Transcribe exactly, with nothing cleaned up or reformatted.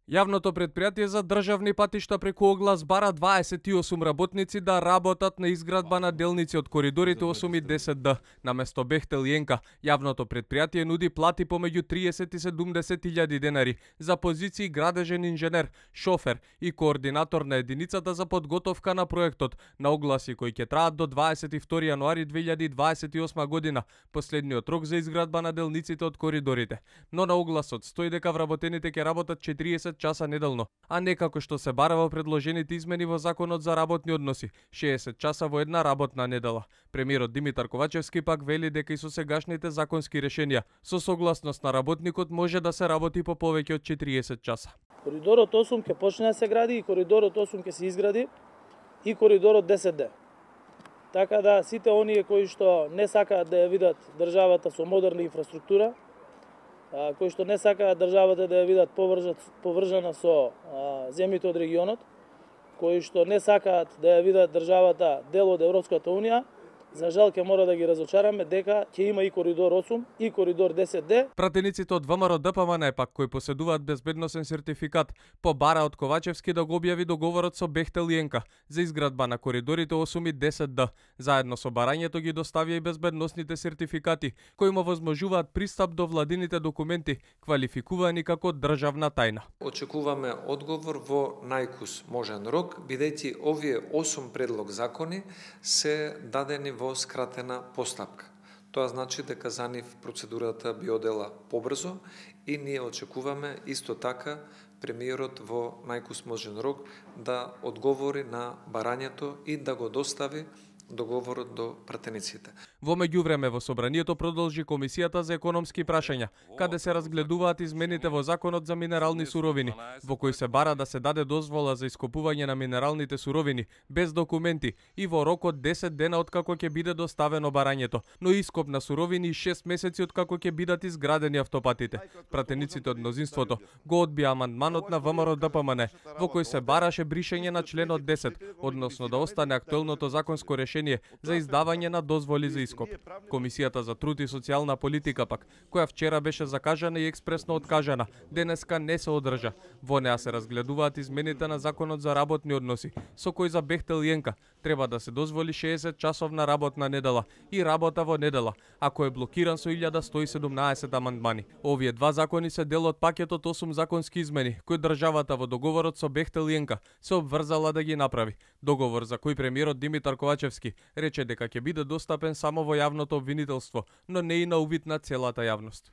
Јавното претпријатие за државни патишта преку оглас бара дваесет и осум работници да работат на изградба на делници од коридорите осум и десет Д. Наместо Бехтел и Енка, јавното претпријатие нуди плати помеѓу триесет и седумдесет илјади денари за позиции градежен инженер, шофер и координатор на единицата за подготовка на проектот, на огласи кои ќе траат до дваесет и втори јануари две илјади дваесет и осма година, последниот рок за изградба на делниците од коридорите. Но на огласот стои дека вработените ќе работат четириесет часа неделно, а не како што се бара во предложените измени во Законот за работни односи, шеесет часа во една работна недела. Премиерот Димитар Ковачевски пак вели дека и со сегашните законски решенија, со согласност на работникот може да се работи по повеќе од четириесет часа. Коридорот осум ќе почне да се гради и коридорот осум ќе се изгради и коридорот десет Д. Така да сите оние кои што не сакаат да ја видат државата со модерна инфраструктура, кои што не сакаат државата да ја видат поврзана со а, земјите од регионот, кои што не сакаат да ја видат државата дел од Европската унија, за жал ќе мора да ги разочараме дека ќе има и коридор осум и коридор десет Д. Пратениците од ВМРО Д П М Н пак кои поседуваат безбедносен сертификат побара од Ковачевски да го објави договорот со Бехтел и Енка за изградба на коридорите осум и десет Д. Заедно со барањето ги доставија и безбедносните сертификати кои му возможуваат пристап до владините документи квалификувани како државна тајна. Очекуваме одговор во најкус можен рок, бидејќи овие осум предлог закони се дадени во во скратена постапка. Тоа значи дека за нив процедурата би одела побрзо и ние очекуваме исто така премиерот во најкус можен рок да одговори на барањето и да го достави договорот до пратениците. Во меѓувреме во собранието продолжи Комисијата за економски прашања, каде се разгледуваат измените во Законот за минерални суровини, во кој се бара да се даде дозвола за ископување на минералните суровини без документи и во рок од десет дена откако ќе биде доставено барањето, но ископ на суровини и шест месеци откако ќе бидат изградени автопатите. Пратениците од мнозинството го одбија амандманот на В М Р Д П М Н, во кој се бараше бришење на членот десет, односно да остане актуелното законско решение за издавање на дозволи за ископ. Комисијата за труд и социјална политика пак, која вчера беше закажана и експресно откажана, денеска не се одржа. Во неа се разгледуваат измените на Законот за работни односи, со кој за Бехтел и Енка треба да се дозволи шеесет часовна работна недела и работа во недела, ако е блокиран со илјада сто и седумнаесет амандмани. Овие два закони се дел од пакетот осум законски измени, кои државата во договорот со Бехтел и Енка се обврзала да ги направи. Договор за кој премиерот Димитар Ковачевски рече дека ќе биде достапен само во јавното обвинителство, но не и на увид на целата јавност.